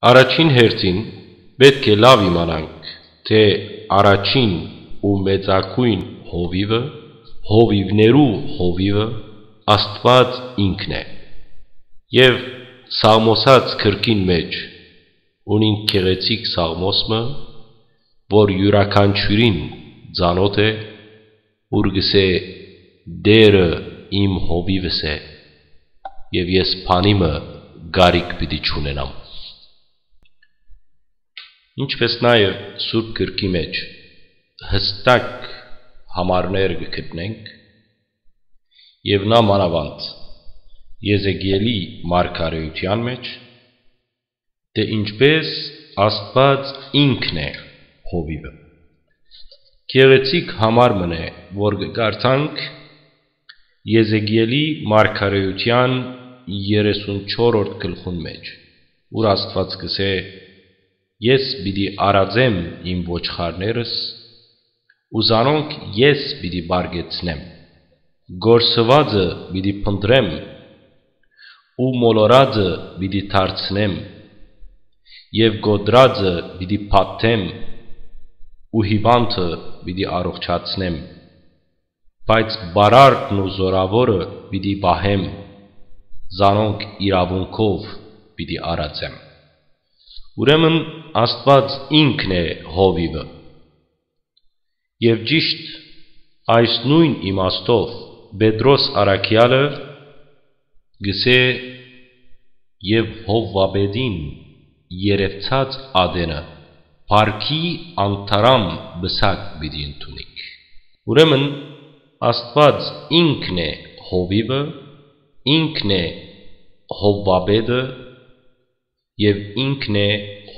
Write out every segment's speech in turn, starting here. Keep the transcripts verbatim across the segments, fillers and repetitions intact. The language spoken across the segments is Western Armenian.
Առաջին հերթին պէտք է լաւ իմանանք, թէ առաջին ու մեծագոյն հովիւը, հովիւներու հովիւը Աստուած ինքն է։ Եւ Սաղմոսաց գրքին մէջ ունին գեղեցիկ սաղմոս մը, որ իւրաքանչիւրին ծանօթ է, ուր կ'ըսէ. «Տէրը իմ հովիւս է, եւ ես բանի մը կարիք պիտի չունենամ»։ Ինչպէս նաեւ Սուրբ Գրքի մէջ յստակ համարներ կը գտնենք, եւ նա մանաւանդ Եզեկիէլի մարգարէութեան մէջ, թէ ինչպէս Աստուած ինքն է հովիւը։ Գեղեցիկ համար մըն է, որ կը կարդանք Եզեկիէլի մարգարէութեան երեսունչորրորդ գլխուն մէջ, ուր Աստուած կ'ըսէ. «Ես պիտի արածեմ իմ ոչխարներս ու զանոնք ես պիտի պարգեցնեմ։ Կորսուածը պիտի փնտռեմ ու մոլորածը պիտի դարձնեմ եւ կոտրածը պիտի փաթթեմ ու հիւանդը պիտի առողջացնեմ, բայց պարարտն ու զօրաւորը պիտի պահեմ, զանոնք իրաւունքով պիտի արածեմ»։ Ուրեմն Աստուած ինքն է հովիւը։ Եւ ճիշդ այս նոյն իմաստով Պետրոս առաքեալը կ'ըսէ. «Եւ հովուապետին երեւցած ատենը փառքի անթարամ պսակ պիտի ընդունիք»։ Ուրեմն Աստուած ինքն է հովիւը, ինքն է հովուապետը, եւ ինքն է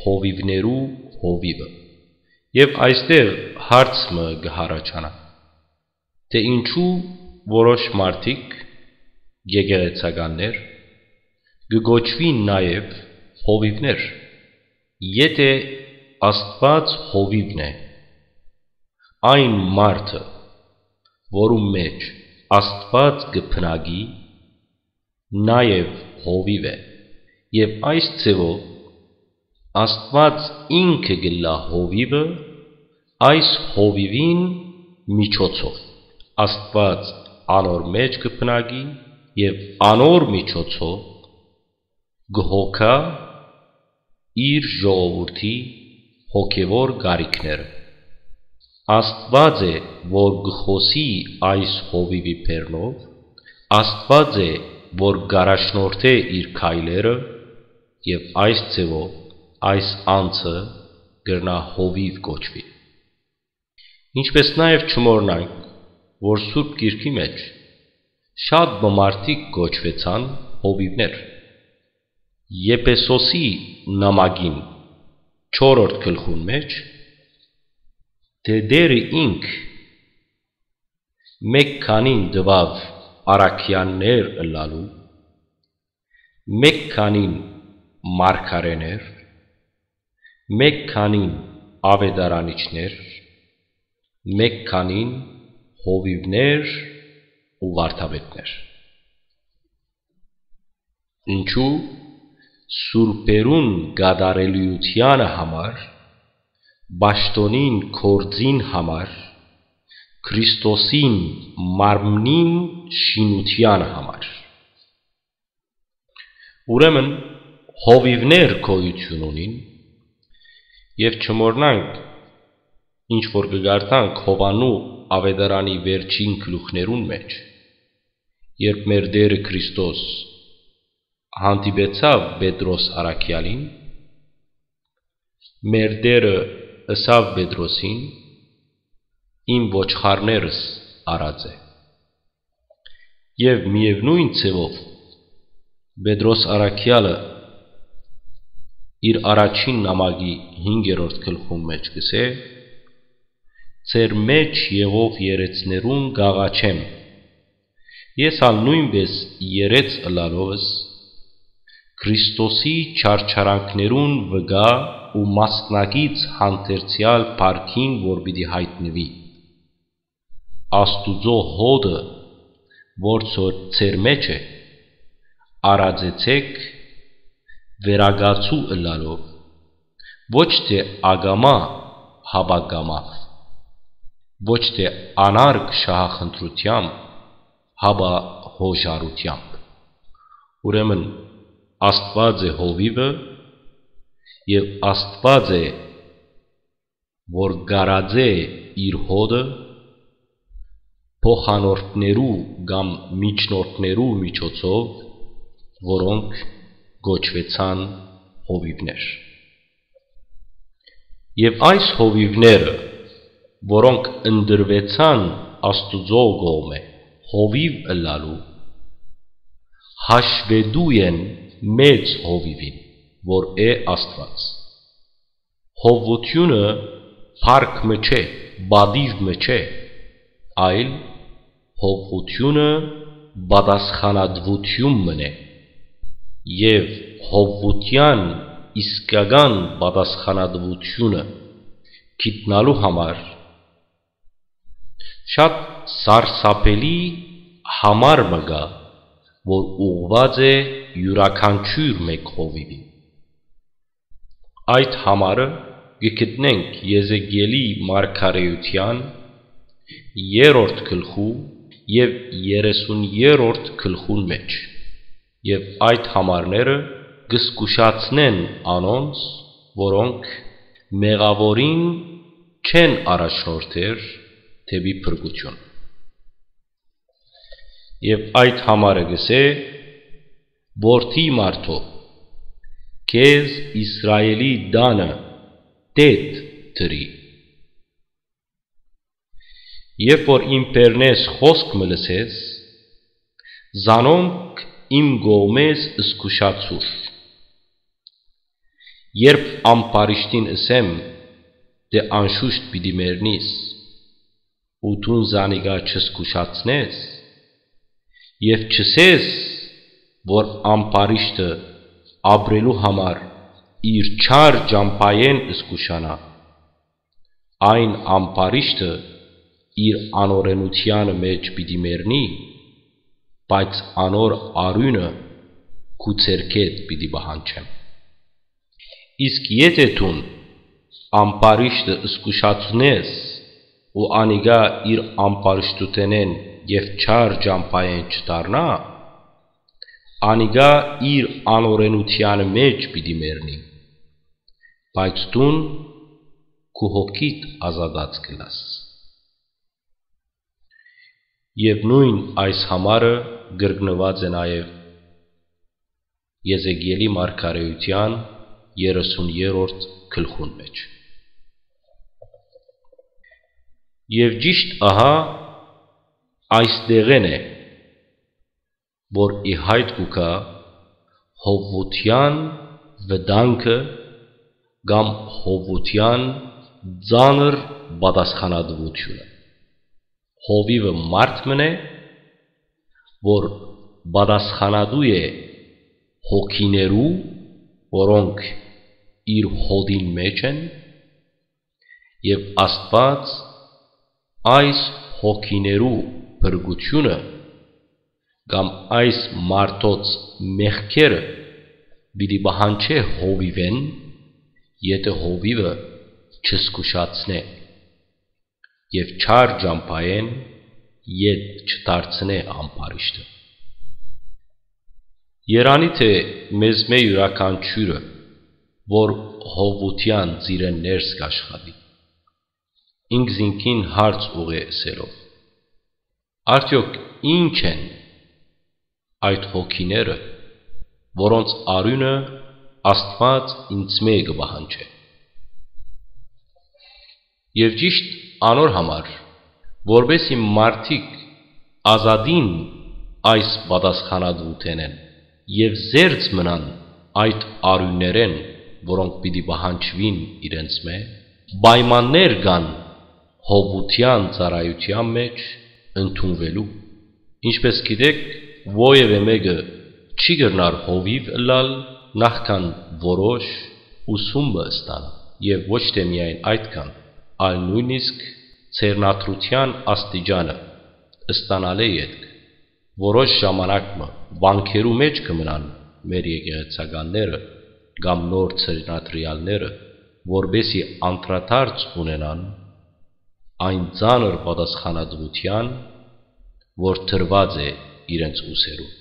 հովիւներու հովիւը։ Եւ այստեղ հարց մը կը յառաջանայ, թէ ինչու որոշ մարդիկ, եկեղեցականներ, կը կոչուին նաեւ հովիւներ, եթէ Աստուած հովիւն է, այն մարդը, որու մէջ Աստուած կը բնակի, նաեւ հովիւ է, եւ այս ձեւով Աստուած ինքը կ'ըլլայ հովիւը, այս հովիւին միջոցով Աստուած անոր մէջ կը բնակի եւ անոր միջոցով կը հոգայ իր ժողովուրդի հոգեւոր կարիքները։ Աստուած է, որ կը խօսի այս հովիւի բեռնով, Աստուած է, որ կ'առաջնորդէ իր քայլերը, եւ այս ձեւով այս անձը կրնայ հովիւ կոչուի։ Ինչպէս նաեւ չմոռնանք, որ Սուրբ Գիրքի մէջ շատ մը մարդիկ կոչուեցան հովիւներ։ Եփեսոսի նամակին չորրորդ գլխուն մէջ, թէ Տէրը ինք մէկ քանին տուաւ առաքեալներ ըլլալու, մէկ քանին մարգարէներ, մէկ քանին աւետարանիչներ, մէկ քանին հովիւներ ու վարդապետներ։ Ինչու՞։ Սուրբերուն կատարելիութեանը համար, պաշտօնին գործին համար, Քրիստոսին մարմնին շինութեանը համար։ Ուրեմն հովիւներ գոյութիւն ունին, եւ չմոռնանք, ինչ որ կը կարդանք Յովհաննու աւետարանի վերջին գլուխներուն մէջ, երբ մեր Տէրը Քրիստոս հանդիպեցաւ Պետրոս առաքեալին, մեր Տէրը ըսաւ Պետրոսին. «Իմ ոչխարներս առած է»։ Եւ միեւնոյն ձեւով Պետրոս առաքեալը իր առաջին նամակի հինգերորդ գլխուն մէջ կ'ըսէ. «Ձեր մէջ եղող երեցներուն կ'աղաչեմ»։ Ես ալ նոյնպէս երեց ըլլալովս Քրիստոսի չարչարանքներուն վկայ ու մասնակից հանդերձեալ փառքին, որ պիտի յայտնուի։ Աստուծոյ հօտը, որ ձո-, ձեր մէջ է, արածեցէք, վերակացու ըլլալով Ոչ թէ ակամայ, հապա կամաւ, ոչ թէ անարգ շահախնդրութեամբ, հապա յօժարութեամբ։ Ուրեմն, Աստուած է հովիւը, եւ Աստուած է, որ կարած է իր հոտը փոխանորդներու կամ միջնորդներու միջոցով, որոնք կոչուեցան հովիւներ։ Եւ այս հովիւները, որոնք ընտրուեցան Աստուծոյ կողմէ հովիւ ըլլալու, հաշուետու են մեծ հովիւին, որ է Աստուած։ Հովվութիւնը փառք մը չէ, պատիւ մը չէ, այլ հովվութիւնը պատասխանատուութիւն մըն է, եւ հովվութեան իսկական պատասխանատուութիւնը գիտնալու համար շատ սարսափելի համար մը կայ, որ ուղղուած է իւրաքանչիւր մէկ հովիւին։ Այդ համարը կը գտնենք Եզեկիէլի մարգարէութեան երրորդ գլխու եւ երեսուն երրորդ գլխուն մէջ, եւ այդ համարները կը զգուշացնեն անոնց, որոնք մեղաւորին չեն առաջնորդեր դէպի փրկութիւն։ Եւ այդ համարը կ'ըսէ. «Որդի մարդոյ, քեզ Իսրայէլի տանը տէտ դրի։ Երբ որ իմ բերնէս խօսք մը լսես, զանոնք իմ կողմէս զգուշացուր։ Երբ ամբարիշտին ըսեմ, թէ անշուշտ պիտի մեռնիս, ու դուն զանիկա չզգուշացնես, եւ չըսես, որ ամբարիշտը ապրելու համար իր չար ճամբայէն զգուշանայ։ Այն ամբարիշտը իր անօրէնութեանը մէջ պիտի մեռնի, բայց անոր արիւնը քու ձեռքէդ պիտի պահանջեմ։ Իսկ եթէ դուն ամբարիշտը զգուշացնես ու անիկա իր ամբարիշտութենէն եւ չար ճամբայէն չդառնայ, անիկա իր անօրէնութեանը մէջ պիտի մեռնի, բայց դուն քու հոգիդ ազատած կ'ըլլաս»։ Եւ նոյն այս համարը կրկնուած է նաեւ Եզեկիէլի մարգարէութեան երեսուն երրորդ գլխուն մէջ։ Եւ ճիշտ ահա այստեղէն է, որ ի յայտ կու գայ հովուութեան վտանգը կամ հովուութեան ծանր պատասխանատուութիւնը։ Հովիւը մարդ մըն է, որ պատասխանատու է հոգիներու, որոնք իր հոտին մէջ են, եւ Աստուած այս հոգիներու փրկութիւնը կամ այս մարդոց մեղքերը պիտի պահանջէ հովիւէն, եթէ հովիւը չզգուշացնէ եւ չար ճամբայէն ետ չդարձնէ ամբարիշտը։ Երանի թէ մեզմէ իւրաքանչիւրը, որ հովուութեան ծիրէն ներս կ'աշխատի, ինքզինքին հարց ուղղէ ըսելով. «Արդեօք ի՞նչ են այդ հոգիները, որոնց արիւնը Աստուած ինծմէ կը պահանջէ»։ Եւ ճիշտ անոր համար, որպէս զի մարդիկ ազատին այս պատասխանատուութենէն եւ զերծ մնան այդ արիւններէն, որոնք պիտի պահանջուին իրենցմէ, պայմաններ կան հովուութեան ծառայութեան մէջ ընդունուելու։ Ինչպէս գիտէք, որեւէ մէկը չի կրնար հովիւ ըլլալ նախքան որոշ ուսում մը ստանայ, եւ ոչ թէ միայն այդքան, այլ նոյնիսկ ձեռնադրութեան աստիճանը ստանալէ ետք, որոշ ժամանակ մը վանքերու մէջ կը մնան մեր եկեղեցականները կամ նոր ձեռնադրեալները, որպէսզի անդրադարձ ունենան այն ծանր պատասխանատուութեան, որ դրուած է իրենց ուսերուն։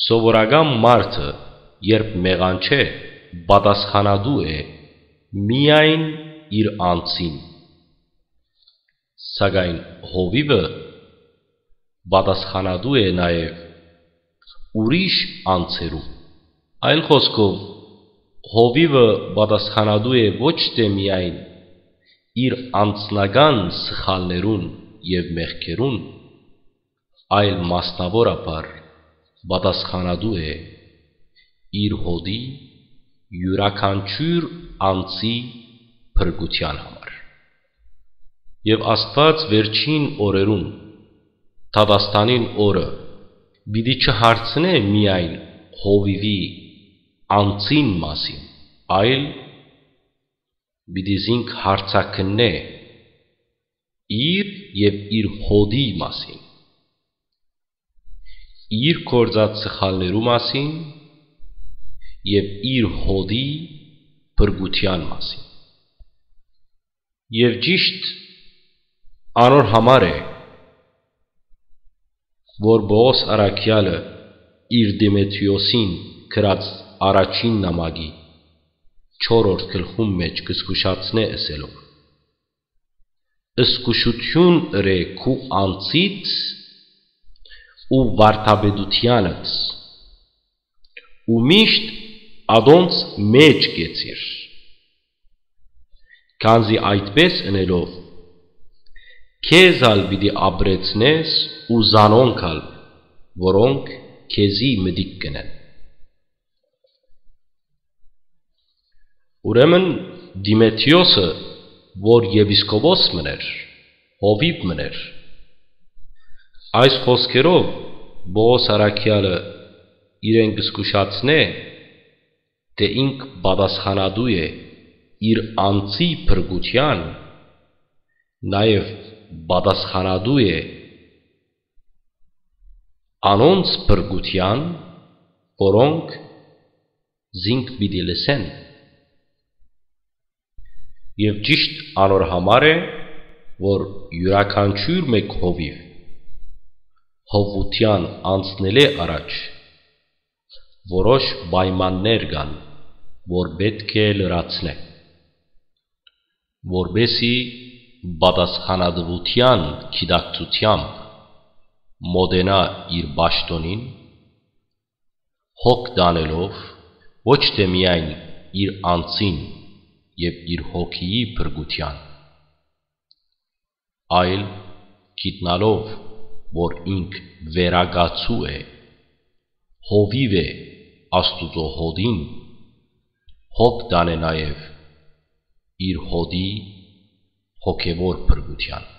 Սովորական մարդը, երբ մեղանչէ, պատասխանատու է միայն իր անձին, սակայն հովիւը պատասխանատու է նաեւ ուրիշ անձերուն։ Այլ խօսքով, հովիւը պատասխանատու է ոչ թէ միայն իր անձնական սխալներուն եւ մեղքերուն, այլ մասնաւորաբար պատասխանատու է իր հօտի յուրաքանչիւր անձի փրկութեան համար։ Եւ Աստուած վերջին օրերուն, դատաստանին օրը, պիտի չհարցնէ միայն հովիւի անձին մասին, այլ պիտի զինք հարցաքննէ իր եւ իր հօտի մասին, իր գործած սխալներու մասին եւ իր հօտի փրկութեան մասին։ Եւ ճիշդ անոր համար է, որ Պողոս առաքեալը իր Դիմեթրիոսին գրած առաջին նամակի չորրորդ գլխուն մէջ կը զգուշացնէ ըսելով. «Զգուշութիւն ըրէ քու անձիդ ու վարդապետութեանդ, ու միշտ ատոնց մէջ կեցիր, քանզի այդպէս ընելով՝ քեզ ալ պիտի ապրեցնես ու զանոնք ալ, որոնք քեզի մտիկ կ'ընեն»։ Ուրեմն Դիմեթրիոսը, որ եպիսկոպոս մըն էր, հովիւ մըն էր, այս խօսքերով Պողոս առաքեալը իրեն կը զգուշացնէ, թէ ինք պատասխանատու է իր անձի փրկութեան, նաեւ պատասխանատու է անոնց փրկութեան, որոնք զինք պիտի լսեն։ Եւ ճիշդ անոր համար է, որ յուրաքանչիւր մէկ հովիւ հովուութեան անցնելէ առաջ որոշ պայմաններ կան, որ պէտք է լրացնէ, որպէսզի պատասխանատուութեան գիտակցութեամբ մօտենայ իր պաշտօնին, հոգ տանելով ոչ թէ միայն իր անձին եւ իր հոգիի փրկութեան, այլ գիտնալով, որ ինք վերակացու է, հովիւ է Աստուծոյ հօտին, հոգ տանէ նաեւ իր հօտի հոգեւոր փրկութեան։